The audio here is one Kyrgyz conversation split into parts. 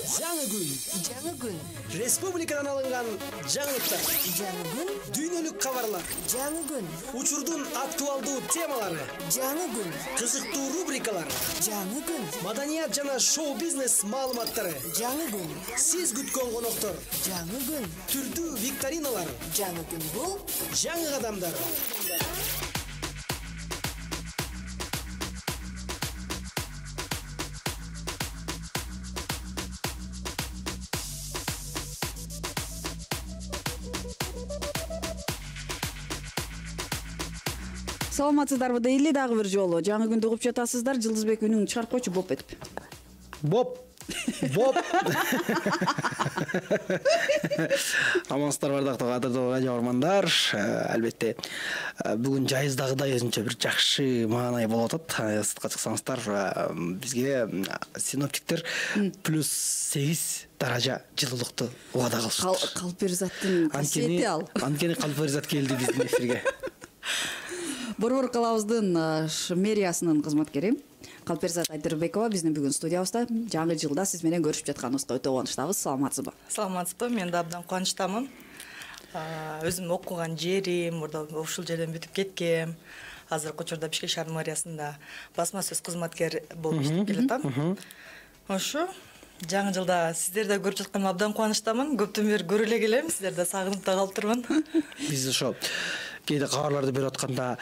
Жаңы күн. Республикадан алынган жаңылыктар. Жаңы күн. Дүйнөлүк кабарлар. Жаңы күн. Учурдун актуалдуу темалары. Жаңы күн. Кызыктуу рубрикалар. Жаңы күн. Маданият жана шоу-бизнес маалыматтары. Жаңы күн. Сиз күткөн коноктор. Жаңы күн. Түрдүү викториналар. Жаңы күн бул Жаңы кадамдар. Саламатсыздарбы дейли, дагы бир жолу жаңы күндү угуп жатасыздар. Жылдызбек үнүң чыгарып койчу боп этип. Боп. Амансыздар бардыктуу кадырлуу радио көрөрмандар. Албетте бүгүн жайыздагыдай өзүнчө бир жакшы маанай болуп атат. Сыртка чыксаңыздар, бизге синоптиктер +8 даража жылуулукту убада кылышты. Калперзаттын касиети ал. Анткени Калперзат келди биздин эфирге. Борбор калабыздын мэриясынын кызматкери Калперзат Айдырбекова биздин бүгүн студиябызда. Жаңы жылда сиз менен көрүшүп жатканыбызга өтө кубанычтабыз. Саламатсызбы? Саламатсызбы, мен да абдан кубанычтамын. Өзүм окуган жерим, мурда ушул жерден бүтүп кеткем. Азыркы учурда Бишкек шаар мэриясында басма сөз кызматкер болуп иштеп келатам. Ошо жаңы жылда сиздерди көрүп жатканыма абдан кубанычтамын. Көптөн бери көрө эле келем, сиздерди сагынып да калыптырмын. Биз ошо кээде кабарларды берип атканда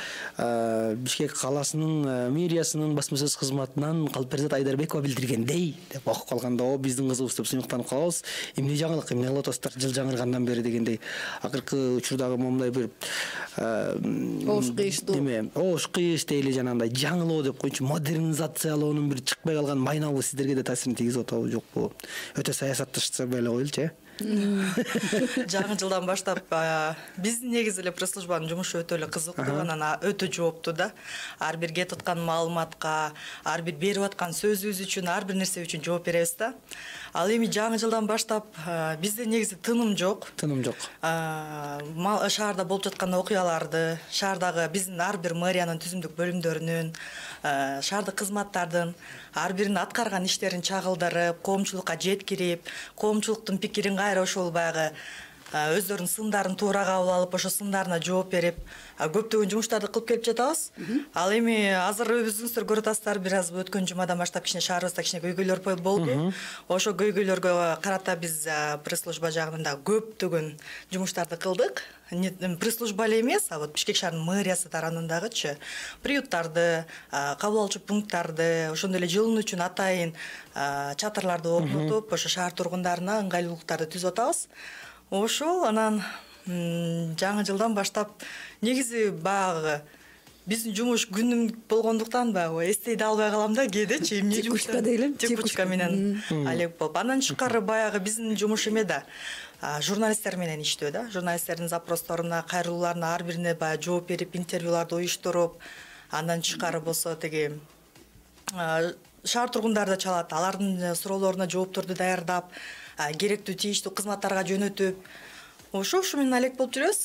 Бишкек каласынын мэриясынын басма сөз кызматынан Калперзат Айдарбекова билдиргендей деп окуп калганда, о биздин кызыбыз деп сыймыктанып калабыз. Эмне жаңылык, эмне кылып атасыздар жыл жаңыргандан бери дегендей. Акыркы учурдагы момундай бир ош кыйыш дейли, жанагындай жаңылоо деп койчу, модернизациялоонун бир чыкпай калган майнабы сиздерге да таасирин тийгизип атабы жокпу? Өтө саясатташса эле коелучу, Жаңы жылдан баштап биздин негизи эле пресс-службанын жумушу өтө эле кызыктуу, анан өтө жооптуу да. Ар бир кетип аткан маалыматка, ар бир берип аткан сөзүбүз үчүн, ар бир нерсе үчүн жооп беребиз да. Ал эми жаңы жылдан баштап бизде негизи тыным жок. Тыным жок. Шаарда болуп жаткан окуяларды, шаардагы биздин ар бир мэриянын түзүмдүк бөлүмдөрүнүн, шаардык кызматтардын ар биринин аткарган иштерин чагылдырып, коомчулукка жеткирип, коомчулуктун пикирин кайра ошол баягы өздөрүнүн сындарын туура кабыл алып, ошо сындарына жооп берип, көптөгөн жумуштарды кылып келип жатабыз. Ал эми азыр өзүңүздөр көрүп атасыздар, бир аз өткөн жумадан баштап кичине шаарыбызда кичине көйгөйлөр болду. Ошо көйгөйлөргө карата биз пресс-служба жагынан да көптөгөн жумуштарды кылдык. Пресс-служба эле эмес, а вот Бишкек шаарынын мэриясы тараптарындагычы приюттарды, кабыл алуучу пункттарды, ошондой эле жылуу үчүн атайын чатырларды орнотуп, ошо шаар тургундарына ыңгайлуулуктарды түзүп атабыз. Ошол анан жаңы жылдан баштап негизи баягы биздин жумуш күнүм болгондуктан баягы эстей да албай калам да кээдечи эмне жумушка дейли, текучка менен алек болуп. Андан тышкары баягы биздин жумуш эме да, журналисттер менен иштөө да. Журналисттердин запросторуна, кайрылууларына ар бирине баягы жооп берип, интервьюларды уюштуруп, андан тышкары болсо теги шаар тургундары да чалат, алардын суроолоруна жоопторду даярдап, керектүү тийиштүү кызматтарга жөнөтүп, ошо менен алек болуп жүрөбүз.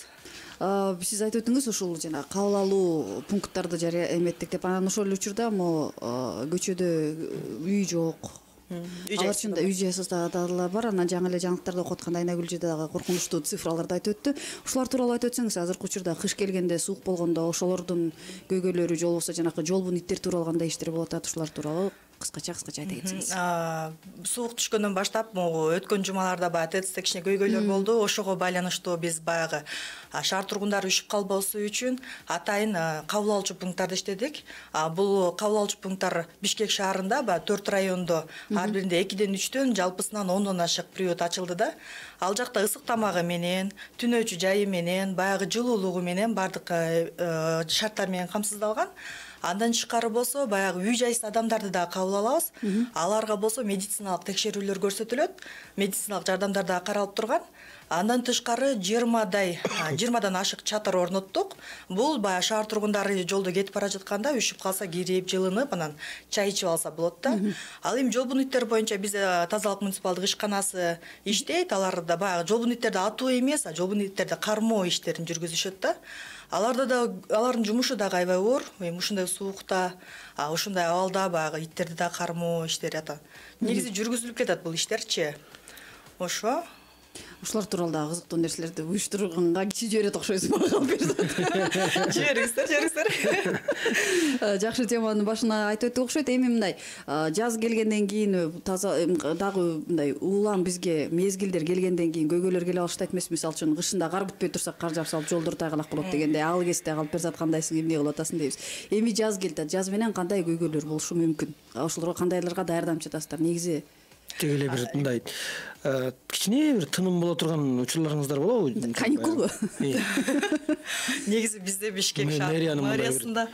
Сиз айтып өтүңүз, ушул жана кабыл алуу пункттарды жарыя эметтик деп, анан ошол эле учурда көчөдө үй жок. Алар чында үй жайсыз дагы бар. Анан жаңы эле жаңылыктарды окуп атканда Айнагүл эже дагы коркунучтуу цифраларды айтып өттү. Ушулар тууралуу айтып өтсөңүз, азыркы учурда кыш келгенде, суук болгондо ошолордун көйгөйлөрү, же болбосо жанакы жолбун иттер тууралуу кандай иштер болуп атат, ушулар тууралуу кыскача айта кетсеңиз. Суук түшкөндөн баштап өткөн жумаларда баягы ТЭЦте кичине көйгөйлөр болду. Ошого байланыштуу биз баягы шаар тургундары үшүп калбасы үчүн атайын кабыл алуучу пункттарды иштедик. Бул кабыл алуучу пункттар Бишкек шаарында баягы 4 райондо ар биринде 2ден 3төн, жалпысынан 10дон ашык приют ачылды да. Ал жакта ысык тамагы менен, түнөөчү жайы менен, баягы жылуулугу менен бардык шарттар менен камсыздалган. Андан тышкары болсо баягы үй жайсыз адамдарды да кабыл алабыз. Аларга болсо медициналык текшерүүлөр көрсөтүлөт, медициналык жардамдар да каралып турган. Андан тышкары 20дан ашык чатыр орноттук. Бул баягы шаар тургундары жолдо кетип бара жатканда үшүп калса кирип, жылынып, анан чай ичип алса болот да. Ал эми жолбун иттер боюнча бизде тазалык муниципалдык ишканасы иштейт. Алар да баягы жолбун иттерди атуу эмес, жолбун иттерди кармоо иштерин жүргүзүшөт да. Аларда да алардын жумушу да аябай оор. Ушундай суукта, ушундай абалда баягы иттерди да кармоо иштери ата. Негизи жүргүзүлүп кетет бул иштерчи. Ошо. Ушулар тууралуу дагы кызыктуу нерселерди уюштурганга кичи жиберет окшойсуң мага калып берди. Жибериңиздер. Жакшы теманын башына айтып өттүк окшойт. Эми мындай жаз келгенден кийин таза дагы мындай улам бизге мезгилдер келгенден кийин көйгөйлөр келе баштайт эмеспи? Мисалы үчүн кышында кар бүтпөй турса кар жаап салып жолдор тайгалак болот дегенде ал кезде калып берсат кандайсың, эмне кылып атасың дейбиз. Эми жаз келди. Жаз менен кандай көйгөйлөр болушу мүмкүн? Ошолорго кандайларга даярданып жатасыздар? Негизи тег эле бир мындай кичине бир тыным боло турган учурларыңыздар болобу? Каникулбу? Негизи бизде Бишкек мэриясында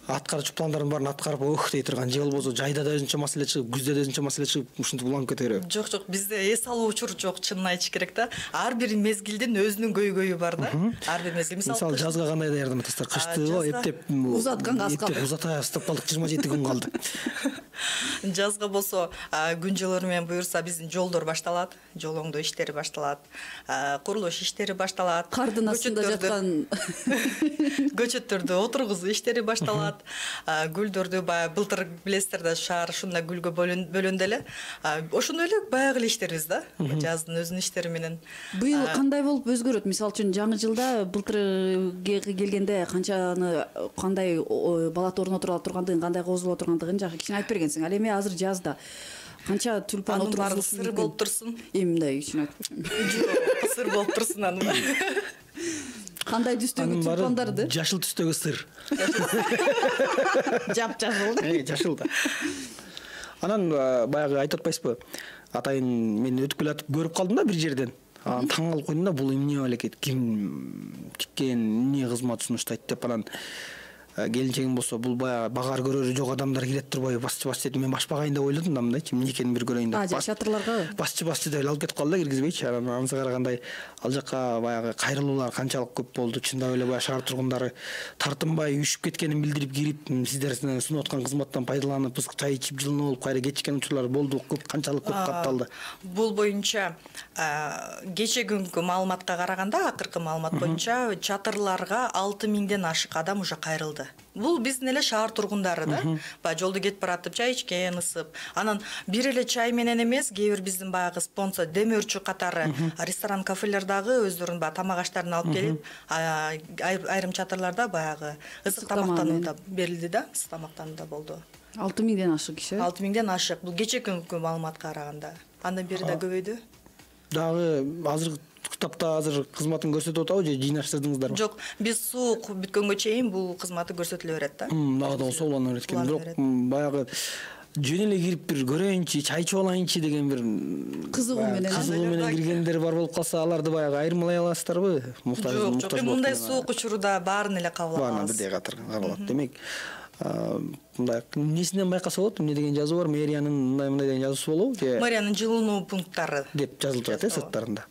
аткарчу пландардын баарын аткарып ох дей турган, же болбосо жайда да өзүнчө маселе чыгып, күздө да өзүнчө маселе чыгып, ушинтип уланып кете береби? Жок, бизде эс алуу учур жок, чынын айтыш керек да. Ар бир мезгилдин өзүнүн көйгөйү бар да. Ар бир мезгил. Мисалы жазга кандай даярданып атасыздар? Кышты эптеп узатканга аз калды. Узатып калдык, 27 күн калды. Жазга болсо күн жылуу менен буюрса биздин жолдор башталат, жол оңдоо иштери башталат, курулуш иштери башталат. Кардын астында жаткан көчөттөрдү отургузуу иштери башталат. Гүлдөрдү баягы былтыр билесиздер да, шаар ушундай гүлгө бөлөндү эле. Ошондой эле баягы эле иштерибиз да. Жаздын өзүнүн иштери менен. Быйыл кандай болуп өзгөрөт? Мисалы үчүн жаңы жылда былтыр келгенде кандай балат орнотура тургандыгын, кандай козуло тургандыгын жакшы кичине айтып бергенсиң. Ал эми азыр жазда канча тюльпан отургузулушу мүмкүн? Сыр болуп турсун. Эми мындай кичине Жок, сыр болуп турсун анын. Кандай түстөгү тюльпандарды? Жашыл түстөгү сыр. Жап-жашыл. Жашыл да. Анан баягы айтып атпайсызбы? Атайын мен өтүп келатып көрүп калдым да бир жерден. Таң калып койдум да, бул эмне балекет, ким тиккен, эмне кызмат сунуштайт деп. Анан келинчегим болсо бул баягы багар көрөрү жок адамдар кирет турбайбы, басчы деп мен башпагайын деп ойлодум да, мындайчы эмне экенин бир көрөйүн деп. Чатырларга Басчы деп алып кетип калды да, киргизбейчи. Анан анысы карагандай ал жака баягы кайрылуулар канчалык көп болду. Чындап эле баягы шаар тургундары тартынбай үшүп кеткенин билдирип кирип, сиздер сунуп аткан кызматтан пайдаланып, ысык чай ичип жылынып алып кайра кетишкен учурлар болду. Көп, канчалык көп катталды? Бул боюнча кече күнгү маалыматка караганда, акыркы маалымат боюнча чатырларга 6000ден ашык адам уже кайрылды. Бул биздин эле шаар тургундары да. Баягы жолдо кетип баратып чай ичкен, ысып. Анан бир эле чай менен эмес, кээ бир биздин баягы спонсор демөөрчү катары ресторан, кафелер дагы өздөрүнүн баягы тамак аштарын алып келип, айрым чатырларда баягы ысык тамактануу да берилди да, ысык тамактануу да болду. 6000ден ашык киши? 6000ден ашык. Бул кече күнгү маалыматка караганда. Андан бери да көбөйдү. Дагы азыр тапта азыр кызматын көрсөтүп атабы же жыйнаштырдыңыздарбы? Жок, биз суук бүткөнгө чейин бул кызматы көрсөтүлө берет да. Дагы да болсо улана берет экен. Бирок баягы жөн эле кирип бир көрөйүнчү, чай ичип алайынчы деген бир кызыгуу менен киргендер бар болуп калса, аларды баягы айырмалай аласыздарбы? Жок, мындай суук учурда баарын эле кабыл алабыз. Баарын бирдей кабыл. Демек, мындай эмнесинен байкаса болот? Эмне деген жазуу бар? Мэриянын мындай деген жазуусу болобу же? Мэриянын жылынуу пункттары деп жазылып турат сырттарында.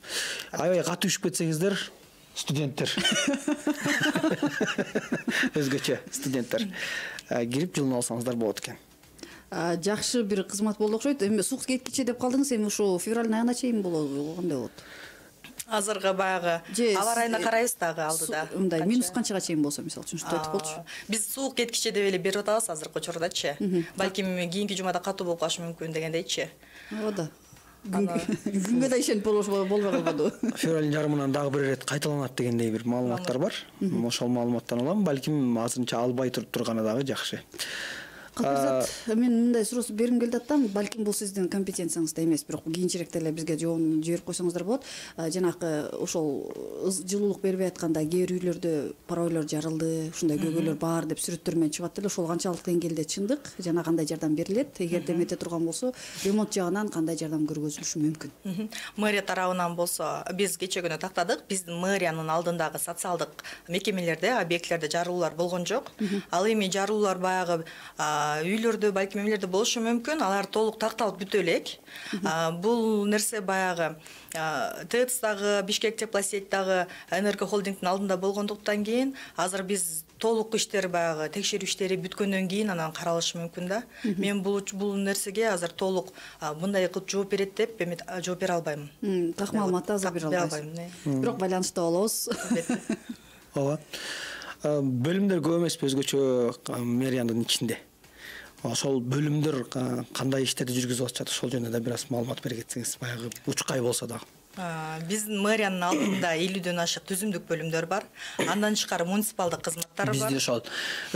Аябай катуу үшүп кетсеңиздер, студенттер. Өзгөчө студенттер кирип жылынып алсаңыздар болот экен. Жакшы бир кызмат болду окшойт. Эми суук кеткиче деп калдыңыз, эми ушу февралдын айына чейин болобу? Кандай болот? Азыркы баягы аба ырайына карайбыз дагы алдыда. Мындай минус канчага чейин болсо, мисалы үчүн ушинтип айтып болчу. Биз суук кеткиче деп эле берип атабыз азыркы учурдачы. Балким кийинки жумада катуу болуп калышы мүмкүн дегендейчи. Ооба. Күнгө да ишенип болбой калбаду. Февралдын жарымынан дагы бир ирет кайталанат дегендей бир маалыматтар бар. Ошол маалыматтан улам балким азырынча албай турганы дагы жакшы. Капырзат, мен мындай суроо берим келди аттам, балким бул сиздин компетенцияңызда эмес, бирок кийинчерээк деле бизге жообун жиберип койсоңуздар болот. Жанагы ошол жылуулук бербей атканда кээ бир үйлөрдө паройлор жарылды, ушундай көйгөйлөр бар деп сүрөттөр менен чыгат эле. Ошол канчалык деңгээлде чындык, жана кандай жардам берилет? Эгерде эмете турган болсо, ремонт жагынан кандай жардам көргөзүлүшү мүмкүн? Мэрия тарабынан болсо, биз кече күнү тактадык. Биздин мэриянын алдындагы социалдык мекемелерде, объектлерде жарылуулар болгон жок. Ал эми жарылуулар баягы үйлөрдө, балким эмелерде болушу мүмкүн. Алар толук такталып бүтө элек. Бул нерсе баягы ТЭЦ дагы, Бишкек теплосеть дагы Энерго холдингдин алдында болгондуктан кийин азыр биз толук иштер баягы текшерүү иштери бүткөндөн кийин анан каралышы мүмкүн да. Мен бул нерсеге азыр толук мындай кылып жооп берет деп жооп бере албайм. Так маалыматты азыр бере албайсыз. Бирок байланышта болобуз. ооба. Бөлүмдөр көп эмеспи өзгөчө мэриянын ичинде? Ошол бөлүмдөр кандай иштерди жүргүзүп атышат, ошол жөнүндө да бир аз маалымат бере кетсеңиз, баягы учкай болсо дагы. Биздин мэриянын алдында 50дөн ашык түзүмдүк бөлүмдөр бар. Андан тышкары муниципалдык кызматтар бар. Бизде ошол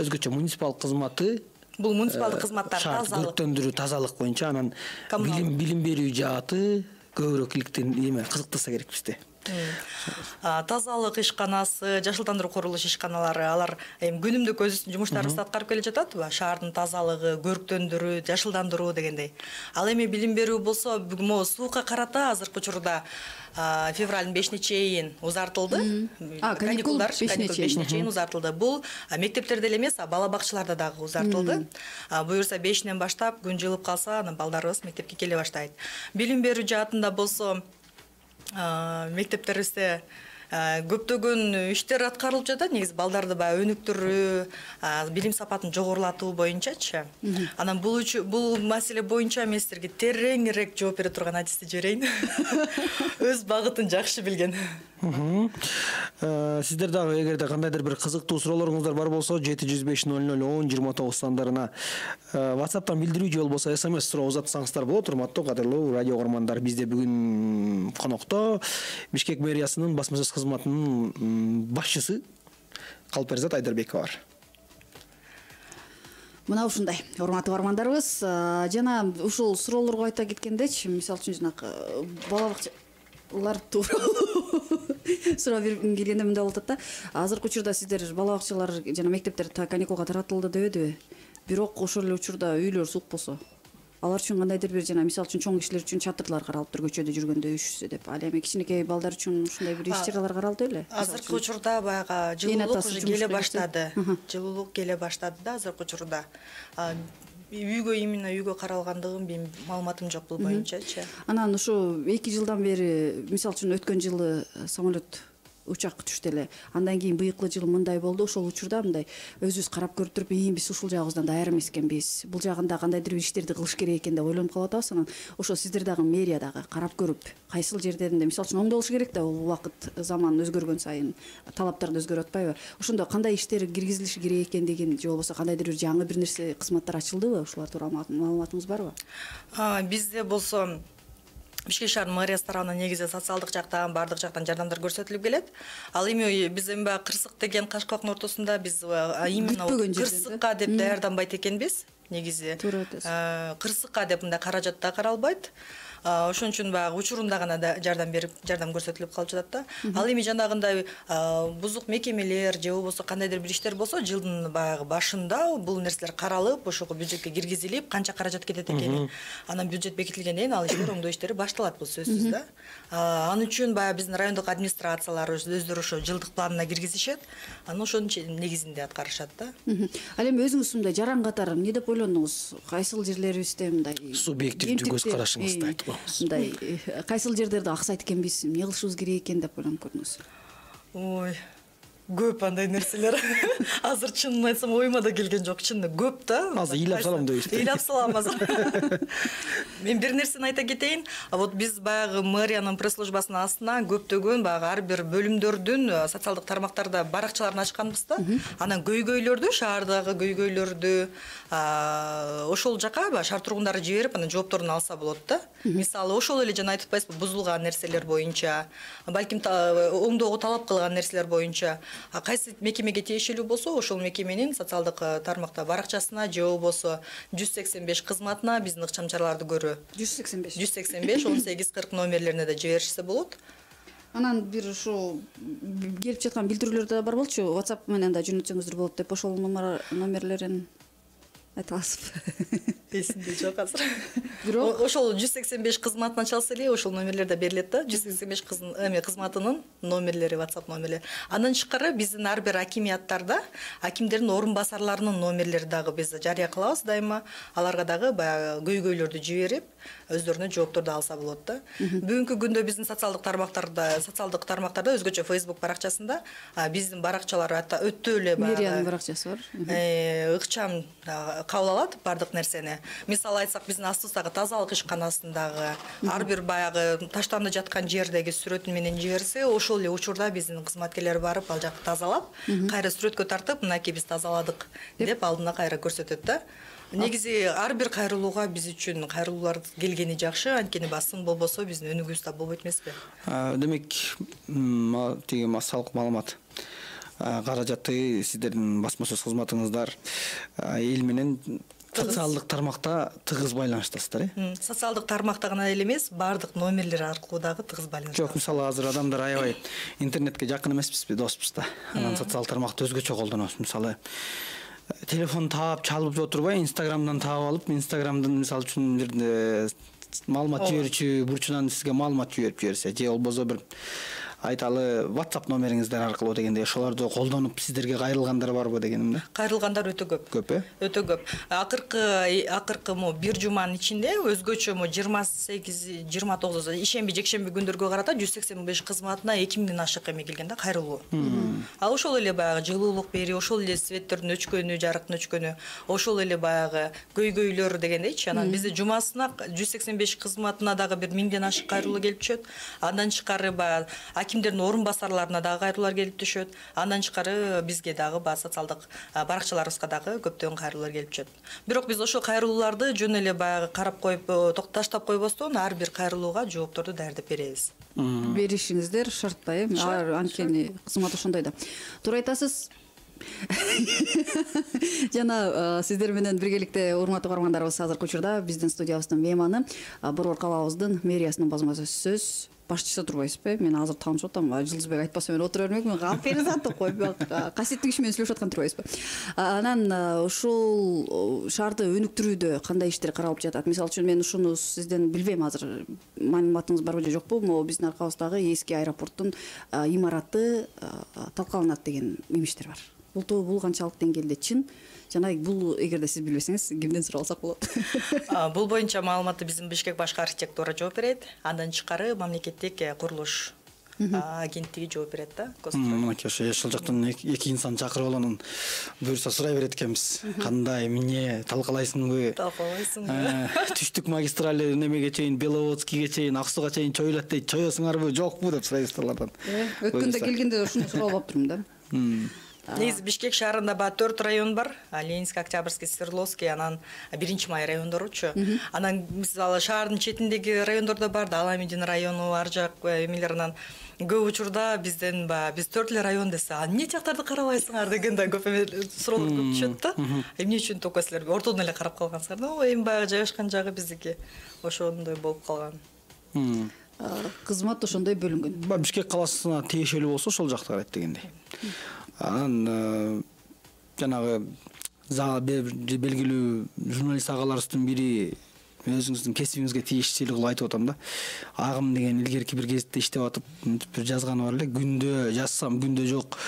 өзгөчө муниципал кызматы. Бул муниципалдык кызматтар тазалык, көрктөндүрүү, тазалык боюнча, анан билим берүү жааты көбүрөөк кызыктырса керек бизде. Тазалык ишканасы, жашылдандыруу курулуш ишканалары, алар күнүмдүк өзүнүн жумуштарын аткарып келе жатат. Шаардын тазалыгы, көрктөндүрүү, жашылдандыруу дегендей. Ал эми билим берүү болсо, могу суука карата азыркы учурда февралдын 5-ине чейин узартылды. Каникулдар 5-ине чейин узартылды. Бул мектептерде эле эмес, бала бакчаларда дагы узартылды. Буюрса 5-инен баштап күн жылып калса, анан балдарыбыз мектепке келе баштайт. Билим берүү жаатында болсо, мектептерибизде көптөгөн иштер аткарылып жатат. Негизи балдарды баягы өнүктүрүү, билим сапатын жогорулатуу боюнчачы. Анан бул маселе боюнча мен силерге тереңирээк жооп бере турган адисти жиберейин. Өз багытын жакшы билген. Сиздер дагы эгерде кандайдыр бир кызыктуу суроолоруңуздар бар болсо 705001029 сандарына WhatsApp'тан билдирүү же болбосо SMS суроо узатсаңыздар болот. Урматтуу кадырлуу радио угармандар, бизде бүгүн конокто Бишкек мэриясынын басма сөз кызматынын башчысы Калперзат Айдарбекова бар. Мына ушундай, урматтуу угармандарыбыз, жана ушул суроолорго айта кеткендечи, мисалы үчүн жанагы бала бакчалар тууралуу суроо бергим келгенде мындай болуп атат да. Азыркы учурда сиздер бала бакчалар жана мектептер каникулга таратылды дебедиби? Бирок ошол эле учурда үйлөр сук болсо, алар үчүн кандайдыр бир жана мисалы үчүн чоң кишилер үчүн чатырлар каралыптыр көчөдө жүргөндө üşүсө деп. Ал эми кичинекей балдар үчүн ушундай бир иш-чаралар каралды беле? Азыркы учурда баягы жылуулук уже келе баштады. Жылуулук келе баштады да азыркы учурда. Именно үйгө каралгандыгын менин маалыматым жок бул боюнчачы. Анан ушу 2 жылдан бери, мисалы үчүн өткөн жылы самолет учак түштү эле. Андан кийин быйыккы жылы мындай болду. Ошол учурда мындай өзүбүз карап көрүп туруп, биз ушул жагыбыздан даяр эмес экенбиз. Бул жагында кандайдыр бир иштерди кылыш керек экен деп ойлонуп калып атабыз. Анан ошо сиздер дагы мэрия дагы карап көрүп, кайсыл жерлеринде мисалы үчүн оңдолуш керек да, убакыт заман өзгөргөн сайын талаптар да өзгөрүп атпайбы? Ошондо кандай иштер киргизилиши керек экендигин же болбосо кандайдыр бир жаңы бир нерсе кызматтар ачылдыбы? Ушулар тууралуу маалыматыңыз барбы? Бизде болсо Бишкек шаар мэриясы тарабынан негизи социалдык жактан, бардык жактан жардамдар көрсөтүлүп келет. Ал эми биз эми баягы кырсык деген Кашкабактын ортосунда биз именно кырсыкка деп даярданбайт экенбиз. Негизи кырсыкка деп мындай каражат да каралбайт. Ошон үчүн баягы учурунда гана жардам көрсөтүлүп калып жатат да. Ал эми жанагындай бузук мекемелер же болбосо кандайдыр бир иштер болсо, жылдын баягы башында бул нерселер каралып, ошого бюджетке киргизилип, канча каражат кетет экенин, анан бюджет бекитилгенден кийин ал иштер оңдоо иштери башталат, бул сөзсүз да. Ал үчүн баягы биздин райондук администрациялар өздөрү ошо жылдык планына киргизишет, анан ошонун негизинде аткарышат да. Ал эми өзүңүз мындай жаран катары эмне деп ойлондуңуз? Кайсыл жерлерибизде мындай субъективдүү көз карашыңызды айтып мындай кайсыл жерлерде аксайт экенбиз, эмне кылышыбыз керек экен деп ойлонуп көрдүңүз? Ой, көп андай нерселер. Азыр чынын айтсам оюма да келген жок, чынында көп да. Азыр ыйлап салам дейсиз. Ыйлап салам азыр. Мен бир нерсени айта кетейин. Вот биз баягы мэриянын пресс-службасынын астына көптөгөн баягы ар бир бөлүмдөрдүн социалдык тармактарда баракчаларын ачканбыз да. Анан көйгөйлөрдү, шаардагы көйгөйлөрдү ошол жака шаар тургундары жиберип, анан жоопторун алса болот да. Мисалы, ошол эле жана айтып атпайсызбы, бузулган нерселер боюнча, балким оңдоого талап кылган нерселер боюнча кайсы мекемеге тиешелүү болсо, ошол мекеменин социалдык тармакта баракчасына же болбосо 185 кызматына биздин ыкчам-чараларды көрүү. 185 1840 номерлерине да жиберишсе болот. Анан бир ушу келип жаткан билдирүүлөр да бар болчу. WhatsApp менен да жөнөтсөңүздөр болот деп, ошол номерлерин айта аласызбы? Эсимде жок азыр. Бирок ошол 185 кызматына чалса эле ошол номерлер да берилет да. 185 кызматынын номерлери, WhatsApp номерлери. Андан тышкары биздин ар бир акимияттарда акимдердин орун басарларынын номерлери дагы биз жарыя кылабыз дайыма. Аларга дагы баягы көйгөйлөрдү жиберип, өздөрүнө жоопторду алса болот да. Бүгүнкү күндө биздин социалдык тармактарда өзгөчө Facebook баракчасында биздин баракчалар өтө эле баягы мэриянын баракчасы бар. Ыкчам кабыл алат бардык нерсени. мисалы айтсак биздин астыбыздагы тазалык ишканасындагы ар бир баягы таштанып жаткан жердеги сүрөтүн менен жиберсе, ошол эле учурда биздин кызматкерлер барып ал жакты тазалап, кайра сүрөткө тартып, мынакей биз тазаладык деп алдына кайра көрсөтөт да. Негизи ар бир кайрылууга биз үчүн кайрылуулар келгени жакшы, анткени сын болбосо биздин өнүгүүбүз да болбойт эмеспи? Демек, тиги массалык маалымат каражаты сиздердин басма сөз кызматыңыздар эл менен социалдык тармакта тыгыз байланыштасыздар, Социалдык тармакта гана эле эмес, баардык номерлер аркылуу дагы тыгыз байланыштасыз. Жок, мисалы азыр адамдар аябай интернетке жакын эмеспизби, доспуз да. Анан социалдык тармакты өзгөчө колдонобуз. Мисалы телефон таап чалып отурбай, Инстаграмдан таап алып, Инстаграмдын мисалы үчүн бир маалымат жиберүүчү бурчунан сизге маалымат жиберип жиберсе, же болбосо бир айталы WhatsApp номериңиздер аркылуу дегенде ошолорду колдонуп сиздерге кайрылгандар барбы дегеним да. Кайрылгандар өтө көп. Көп, Өтө көп. Акыркы бир жуманын ичинде өзгөчө 28-29 ишемби, жекшемби күндөргө карата 185 кызматына 2000ден ашык эме келген да, кайрылуу. Ал ошол эле баягы жылуулук берүү, ошол эле светтердин өчкөнү, жарыктын өчкөнү, ошол эле баягы көйгөйлөр дегендейчи. Анан бизде жумасына 185 кызматына дагы бир 1000ден ашык кайрылуу келип түшөт. Андан тышкары баягы акимдердин орун басарларына дагы кайрылуулар келип түшөт. Андан тышкары бизге дагы социалдык баракчаларыбызга дагы көптөгөн кайрылуулар келип түшөт. Бирок биз ошол кайрылууларды жөн эле баягы карап коюп таштап койбостон ар бир кайрылууга жоопторду даярдап беребиз. Беришиңиздер шарт да, анткени кызмат ошондой да. Туура айтасыз. Жана сиздер менен биргеликте урматтуу көрөрмандарыбыз, азыркы учурда биздин студиябыздын мейманы Борбор калаабыздын мэриясынын басма сөз башчысы турбайсызбы? Мен азыр таанышып атам, Жылдызбек айтпаса мен отура бермекмин. Алып бериңиз коюп, касиеттик иш менен сүйлөшүп аткан турбайсызбы? Анан ушул шаарды өнүктүрүүдө кандай иштер каралып жатат? Мисалы үчүн мен ушуну сизден билбейм, азыр маалыматыңыз барбы же жокпу? Могу биздин аркабыздагы эски аэропорттун имараты талкаланат деген мимиштер бар. Бул канчалык деңгээлде чын? Жана бул эгерде сиз билбесеңиз, кимден сурап алсак болот? Бул боюнча маалыматты биздин Бишкек башкы архитектура жооп берет. Андан тышкары мамлекеттик курулуш агенттиги жооп берет да. Мынакей ошол жактан эки инсан чакырып алганын буюрса сурай берет экенбиз. Кандай, эмне талкалайсыңбы? Талкалайсыңбы? Түштүк магистрали немеге чейин, Беловодскийге чейин, Ак сууга чейин чоюлат дейт. Чоесуңарбы, жокпу деп сурайсыздар алардан. Өткөндө келгенде ушуну сурап алып турмун да. Негизи Бишкек шаарында 4 район бар. Ленинский, Октябрьский, Свердловский, анан 1-май райондоручу. Анан мисалы шаардын четиндеги райондордо бар, Аламидин району, ар жак эмелер. Анан көп учурда бизден биз 4 эле район десе, эмне жактарды карабайсыңар деген да көп суроолор көп түшөт да. Эмне үчүн только силер ортодон эле карап калгансыңар? Эми баягы жайгашкан жагы биздики ошондой болуп калган. Кызмат ошондой бөлүнгөн. Бишкек калаасына тиешелүү болсо ошол жакта карайт дегендей. Анан жанагы белгилүү журналист агаларыбыздын бири өзүңүздүн кесибиңизге тиешелүү кылып айтып атам да. Агым деген илгерки бир гезитте иштеп атып бир жазганы бар эле. Күндө жазсам күндө жок,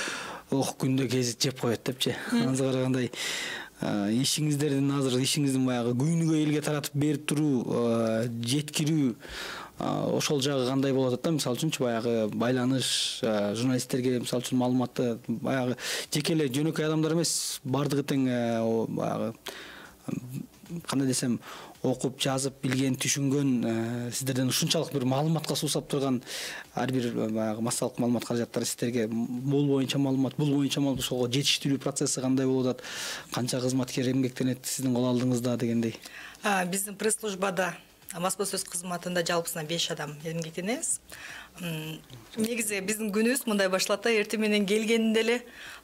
күндө гезит жеп коет депчи. Азыр кандай ишиңиздердин азыр ишиңиздин баягы күнүгө элге таратып берип туруу, жеткирүү ошол жагы кандай болуп атат да? Мисалы үчүнчү баягы байланыш, журналисттерге мисалы үчүн маалыматты баягы жеке эле жөнөкөй адамдар эмес, бардыгы тең баягы кандай десем, окуп, жазып, билген, түшүнгөн, сиздерден ушунчалык бир маалыматка суусап турган ар бир баягы массалык маалымат каражаттары сиздерге бул боюнча маалымат ошого жетиштирүү процесси кандай болуп атат? Канча кызматкер эмгектенет сиздин кол алдыңызда дегендей? Биздин пресс-службада басма сөз кызматында жалпысынан 5 адам эмгектенебиз. Негизи биздин күнүбүз мындай башталат да, эртең менен келгенде эле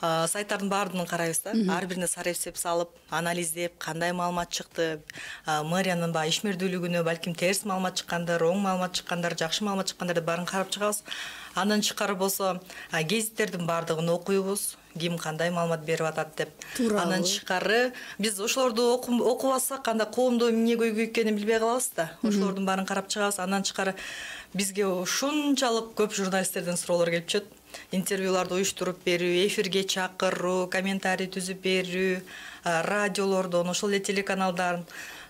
сайттардын баардыгын карайбыз да. Ар бирине сары эсеп салып, анализдеп, кандай маалымат чыкты, мэриянын ишмердүүлүгүнө балким терс маалымат чыккандар, оң маалымат чыккандар, жакшы маалымат чыккандар деп баарын карап чыгабыз. Андан тышкары болсо гезиттердин баардыгын окуйбуз, ким кандай маалымат берип атат деп. Андан тышкары биз ошолорду окубасак, анда коомдо эмне көйгөй экенин билбей калабыз да. Ошолордун баарын карап чыгабыз. Андан тышкары бизге ушунчалык көп журналисттерден суроолор келип түшөт. Интервьюларды уюштуруп берүү, эфирге чакыруу, комментарий түзүп берүү, радиолордон, ошол эле телеканалдар.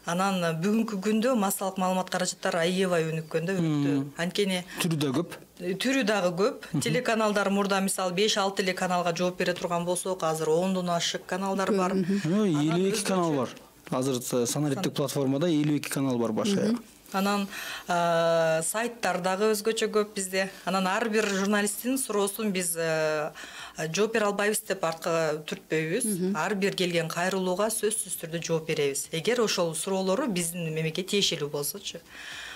Анан бүгүнкү күндө массалык маалымат каражаттары аябай өнүккөн да, өнүктү. Анткени түрү да көп. Түрү дагы көп. Телеканалдар мурда мисалы 5-6 эле каналга жооп бере турган болсок, азыр 10дон ашык каналдар бар. 52 канал бар. Азыр санариптик платформада 52 канал бар башы. Анан сайттар дагы өзгөчө көп бизде. Анан ар бир журналисттин суроосун биз жооп бере албайбыз деп артка түртпөйбүз. Ар бир келген кайрылууга сөзсүз түрдө жооп беребиз. Эгер ошол суроолору биздин мемлекетке тиешелүү болсочу.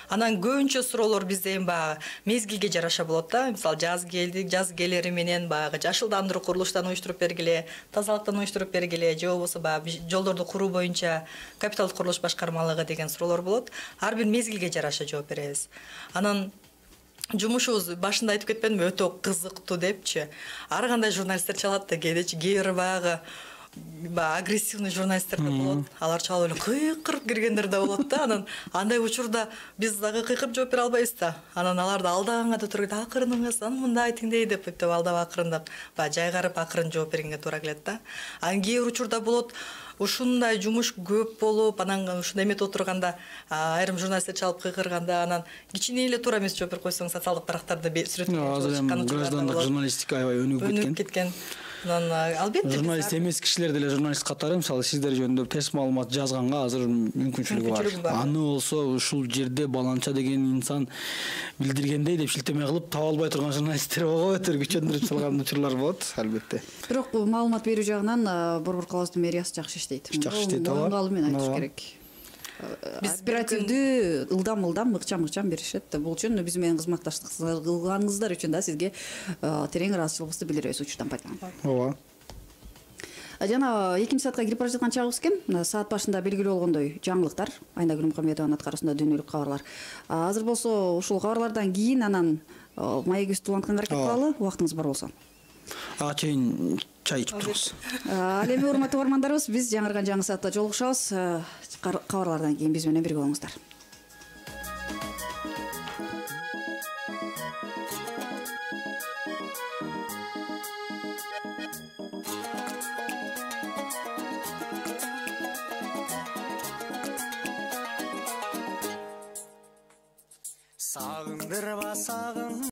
Анан көбүнчө суроолор бизде эми баягы мезгилге жараша болот да. Мисалы жаз келди, жаз келери менен баягы жашылдандыруу курулуштан уюштуруп бергиле, тазалыктан уюштуруп бергиле, же болбосо баягы жолдорду куруу боюнча капиталдык курулуш башкармалыгы деген суроолор болот. Ар бир мезгилге жараша жооп беребиз. Анан жумушубуз башында айтып кетпедимби, өтө кызыктуу депчи. Ар кандай журналисттер чалат да, кээде кээ бир баягы агрессивный журналисттер да болот. Алар чалып эле кыйкырып киргендер да болот да. Анан андай учурда биз дагы кыйкырып жооп бере албайбыз да. Анан аларды алдаганга да туура келет. Акырыныңыз, анан мындай айтыңдей деп алдап акырындап, баягы жайгарып акырын жооп бергенге туура келет да. Анан кээ бир учурда болот, ушундай жумуш көп болуп, анан ушундай эметип отурганда айрым журналисттер чалып кыйкырганда, анан кичине эле туура эмес жооп берип койсоң, социалдык тарактарда сүрөттөн граждандык журналистика аябай өнүгүп кеткен. Анан албетте журналист эмес кишилер деле журналист катары мисалы сиздер жөнүндө терс маалымат жазганга азыр мүмкүнчүлүгү бар. Аны болсо ушул жерде баланча деген инсан билдиргендей деп шилтеме кылып таба албай турган журналисттер ого күчөндүрүп салган учурлар болот, албетте. Бирок маалымат берүү жагынан Борбор калаасынын мэриясы жакшы иштейт. Жакшы иштейт, ооба. Моюнга алуу менен айтыш керек. Оперативдүү ылдам ыкчам беришет. Бул үчүн биз менен кызматташтык кылганыңыздар үчүн да сизге терең ыраазычылыгыбызды билдиребиз учурдан пайдаланып. Ооба. Жана 2 саатка кирип бара жаткан чагыбыз экен. Саат башында белгилүү болгондой жаңылыктар, Айнагүл Мухамедованын аткаруусунда дүйнөлүк кабарлар. Азыр болсо ушул кабарлардан кийин анан маегибизди улантканга аракет кылалы, убактыңыз бар болсо. Чейин чай ичип турабыз. Ал эми урматтуу угармандарыбыз, биз жаңырган жаңы саатта жолугушабыз. Кабарлардан кийин биз менен бирге болуңуздар. Сагындырба сагын